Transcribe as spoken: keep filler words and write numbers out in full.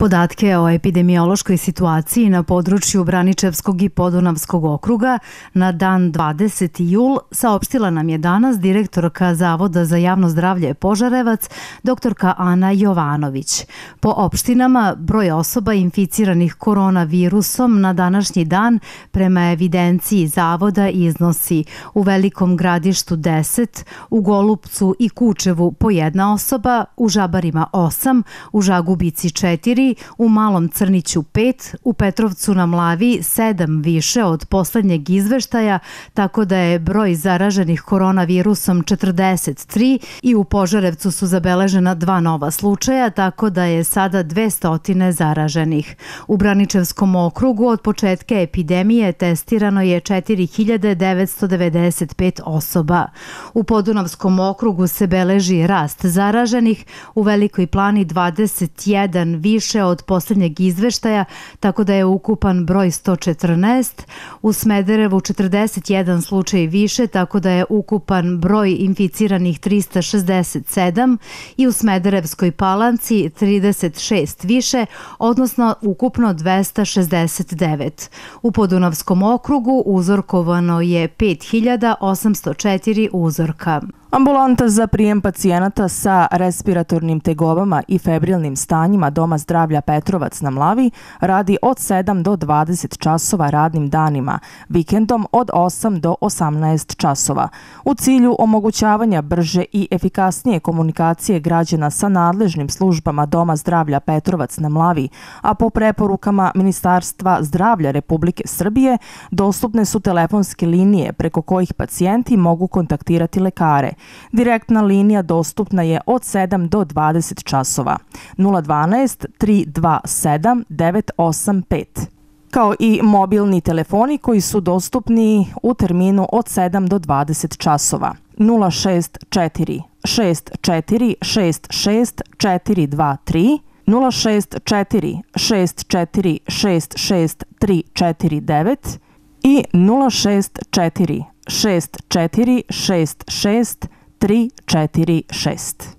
Podatke o epidemiološkoj situaciji na području Braničevskog i Podunavskog okruga na dan dvadeseti jul saopštila nam je danas direktorka Zavoda za javno zdravlje Požarevac, doktorka Ana Jovanović. Po opštinama, broj osoba inficiranih koronavirusom na današnji dan prema evidenciji Zavoda iznosi u Velikom Gradištu deset, u Golupcu i Kučevu po jedna osoba, u Žabarima osam, u Žagubici četiri, u Malom Crniću pet, u Petrovcu na Mlavi sedam više od poslednjeg izveštaja, tako da je broj zaraženih koronavirusom četrdeset tri i u Požarevcu su zabeležena dva nova slučaja, tako da je sada dvesta zaraženih. U Braničevskom okrugu od početka epidemije testirano je četiri hiljade devetsto devedeset pet osoba. U Podunavskom okrugu se beleži rast zaraženih, u Velikoj Plani dvadeset jedan više od poslednjeg izveštaja, tako da je ukupan broj sto četrnaest, u Smederevu četrdeset jedan slučaj više, tako da je ukupan broj inficiranih trista šezdeset sedam i u Smederevskoj Palanci trideset šest više, odnosno ukupno dvesta šezdeset devet. U Podunavskom okrugu uzorkovano je pet hiljada osamsto četiri uzorka. Ambulanta za prijem pacijenata sa respiratornim tegobama i febrilnim stanjima Doma zdravlja Petrovac na Mlavi radi od sedam do dvadeset časova radnim danima, vikendom od osam do osamnaest časova. U cilju omogućavanja brže i efikasnije komunikacije građana sa nadležnim službama Doma zdravlja Petrovac na Mlavi, a po preporukama Ministarstva zdravlja Republike Srbije, dostupne su telefonske linije preko kojih pacijenti mogu kontaktirati lekare. Direktna linija dostupna je od sedam do dvadeset časova. nula dvanaest tri dva sedam devet osam pet. Kao i mobilni telefoni koji su dostupni u terminu od sedam do dvadeset časova. nula šest četiri šest četiri šest šest četiri dva tri, nula šest četiri šest četiri šest šest tri četiri devet i nula šest četiri šest četiri šest šest tri četiri šest.